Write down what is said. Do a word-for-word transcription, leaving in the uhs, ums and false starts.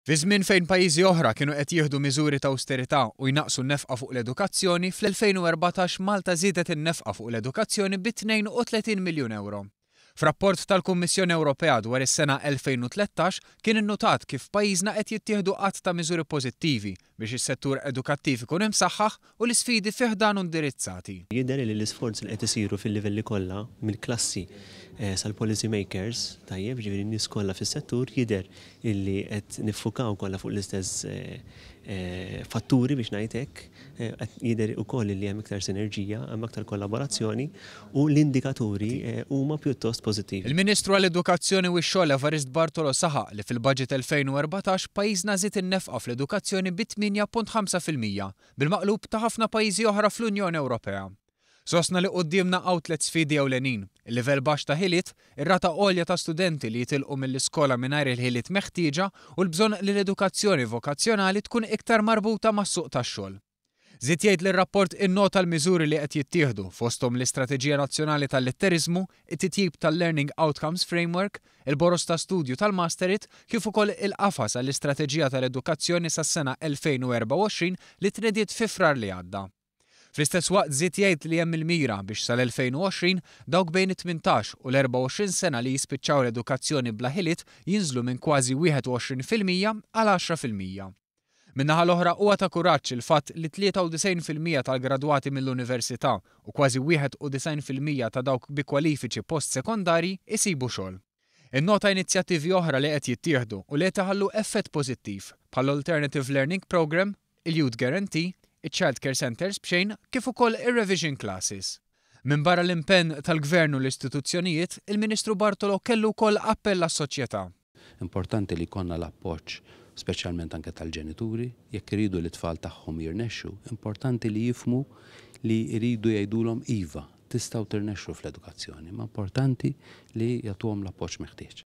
Fi żmien fejn pajjiżi oħra kienu qed jieħdu miżuri ta' awsterità u jnaqqsu n-nefqa fuq l-edukazzjoni, fl-elfejn u erbatax Malta żiedet in-nefqa fuq l-edukazzjoni bi tnejn u tletin miljun ewro. F'rapport tal-Kummissjoni Ewropea dwar is-sena elfejn u tlettax kien innutat kif pajjiżna qed jittieħdu għadd ta' miżuri pożittivi biex is-settur edukattiv ikun imsaħħaħ u l-isfidi fih dan indirizzati. Jidher li l-isforzi li qed isiru fil-livelli kollha mill-klassi sal-policy makers, tajjeb, ġifieri n-nies kollha fis-settur, jidher illi qed niffukaw kollha fuq l-istess fatturi biex ngħid hekk, qed jidher ukoll li hemm iktar sinerġija, hemm aktar kollaborazzjoni u l-indikaturi huma pjuttost pożittivi. Il-Ministru għall-Edukazzjoni u x-Xogħol Evarist Bartolo saħaq li fil-budget elfejn u erbatax pajjiżna żied in-nefqa fl-edukazzjoni bi tmienja punt ħamsa fil-mija, bil-maqlub ta' ħafna pajjiżi oħra fl-Unjoni Ewropea. Sostna li quddiemna hawn tliet sfidi ewlenin, il-livell baxx ta' ħiliet, ir-rata għolja ta' studenti li jitilqu mill-iskola mingħajr il-ħiliet meħtieġa u l-bżonn li l-edukazzjoni vokazzjonali tkun iktar marbuta mas-suq tax-xogħol. Żied jgħid li r-rapport innota l-miżuri li qed jittieħdu fosthom l-Istrateġija Nazzjonali tal-Litteriżmu, it-titjib tal-Learning Outcomes Framework, il-boroż ta' studju tal-Masterit, kif ukoll il-qafas għall-Istrateġija tal-Edukazzjoni sas-sena elfejn u erbgħa u għoxrin li tnediet fi Frar li għadda. Fl-istess waqt żied jgħid li hemm il-mira biex sal-elfejn u għoxrin dawk bejn it-tmintax u l-erbgħa u għoxrin sena li jispiċċaw l-edukazzjoni bla ħiliet jinżlu minn kważi wieħed u għoxrin fil-mija għal għaxra fil-mija. Min-naħa l-oħra huwa ta' kuraġġ il-fatt li tlieta u disgħin fil-mija tal-gradwati mill-università u kważi wieħed u disgħin fil-mija ta' dawk bi kwalifiċi post-sekondarji isibu xogħol. Innota inizjattivi oħra li qed jittieħdu u li qed iħallu effett pożittiv bħall-Alternative Learning Program, il-Youth Guarantee, il-Child Care Centers b'xejn kif ukoll ir-Revision Classes. Minn barra l-impenn tal-Gvern u l-istituzzjonijiet, il-Ministru Bartolo kellu wkoll appell għas-soċjetà. Importanti li jkollna l-appoġġ speċjalment anke tal-ġenituri, jekk iridu li t-tfal tagħhom jirnexxu, importanti li jifhmu li jridu jgħidulhom iva, tistgħu tirnexxu fl-edukazzjoni, ma importanti li jagħtuhom l-appoġġ meħtieġ.